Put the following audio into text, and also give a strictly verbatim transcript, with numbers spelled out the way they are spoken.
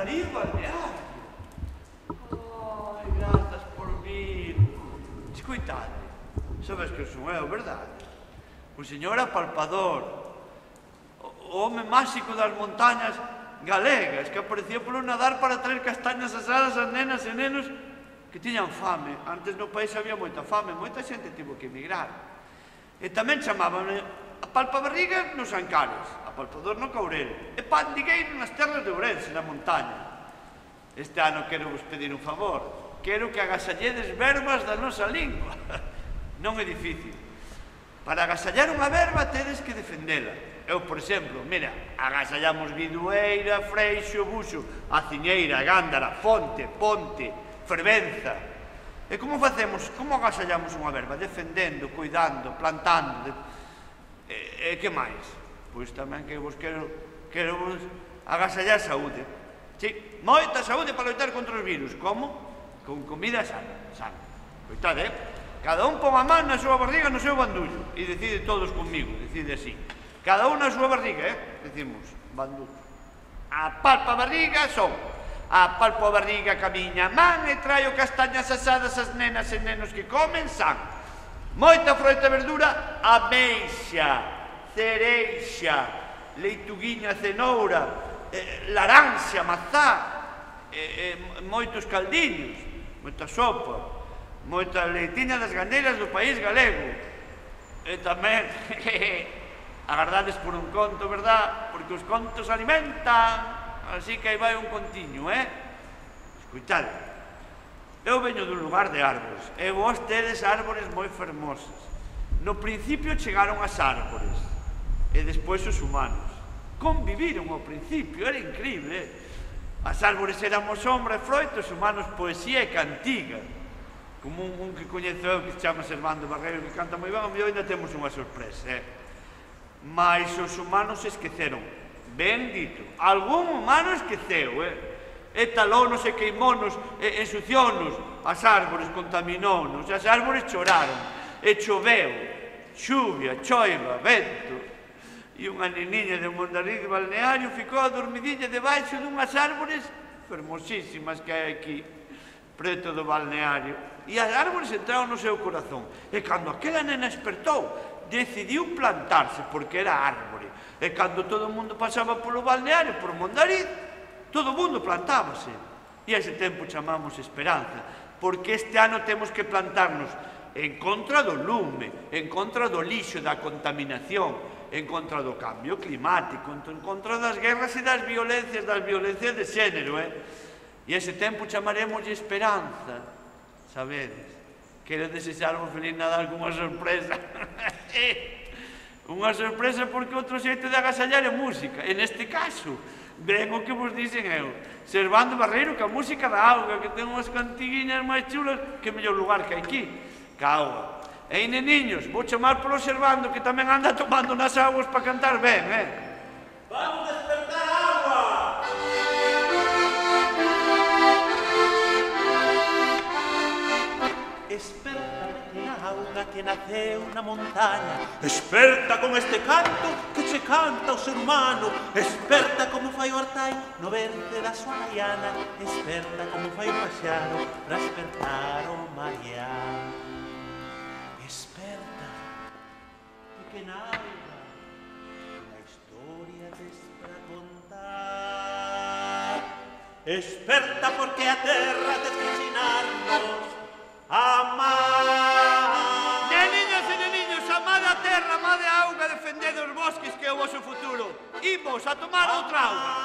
Darío Balneario. Ai, grazas por vir. Escoitade, sabes que son eu, verdade? O señor Apalpador, o home máxico das montañas galegas, que aparecía polo nadar para traer castañas asadas ás nenas e nenos que tiñan fame. Antes no país había moita fame, moita xente tivo que emigrar. E tamén chamaban Apalpabarriga nos Ancares, Apalpador no Caurel, e Pandigueiro nas terras de Ourense, na montaña. Este ano quero vos pedir un favor. Quero que agasalledes verbas da nosa lingua. Non é difícil. Para agasallar unha verba tedes que defendela. Eu, por exemplo, mira, agasallamos Bidueira, Freixo, Buxo, Aciñeira, Gándara, Fonte, Ponte, Fervenza. E como facemos? Como agasallamos unha verba? Defendendo, cuidando, plantando. De... E, e que máis? Pois tamén que vos quero, quero vos agasallar saúde. Sí, moita saúde para loitar contra os virus. Como? Con comida sana. sana. Coitade, eh? Cada un pon a man na súa barriga, no seu bandullo. E decide todos conmigo, decide así. Cada un na súa barriga, eh? Decimos, bandullo. Apalpa a barriga, son. Apalpo a barriga, camiña a man e traio castañas asadas as nenas e nenos que comen san. Moita froita e verdura, ameixa, cereixa, leituguiña, cenoura, eh, laranxa, mazá, eh, eh, moitos caldiños, moita sopa, moita leitiña das gandeiras do país galego. E tamén, agardades por un conto, verdad? Porque os contos alimentan. Así que aí vai un contiño, eh? Escoitade. Eu veño dun lugar de árbores, e vos tedes árbores moi fermosas. No principio chegaron as árbores, e despois os humanos. Conviviron ao principio, era increíble. As árbores éramos sombra e froito, os humanos poesía e cantiga. Como un, un que coñezo eu que se chama Servando Barreiro, que canta moi ben, a mí ainda temos unha sorpresa, eh? Mais os humanos esqueceron, ben dito, algún humano esqueceu, eh? E talónos e queimónos, e ensuciónos, as árbores contaminónos, as árbores choraron, e choveu, chuvia, choiva, vento. E unha neniña de Mondariz de Balneario ficou adormidinha debaixo dunhas árbores fermosísimas que hai aquí, preto do balneario. E as árbores entraron no seu corazón. E cando aquela nena despertou, decidiu plantarse, porque era árbore. E cando todo o mundo pasaba polo balneario, por Mondariz, todo o mundo plantábase. E a ese tempo chamamos esperanza, porque este ano temos que plantarnos en contra do lume, en contra do lixo, da contaminación, en contra do cambio climático, en contra das guerras e das violencias, das violencias de xénero, eh? E ese tempo chamaremos esperanza, sabedes? Quero desexarvos feliz Nadal con unha sorpresa. Unha sorpresa porque outro xeito de agasallar é música. En este caso, ven o que vos dixen eu, Servando Barreiro, que a música da auga, que ten unhas cantiguiñas máis chulas que mellor lugar que hai aquí, ca auga. Ei, neniños, vou chamar polo Servando, que tamén anda tomando nas aguas para cantar ben, eh? Vamos despertar a agua! Esperta, pequena auga que naceu na montaña. Esperta con este canto que che canta o ser humano. Esperta como fai o artai no verde da súa maiana. Esperta como fai o paxaro para espertar o mariano. Esperta, pequena auga, unha historia tes para contar. Esperta porque a terra tes que ensinarnos a amar. Neniños e neniños, amade a terra, amade a auga, defendede os bosques que é o vosso futuro. Imos a tomar outra auga.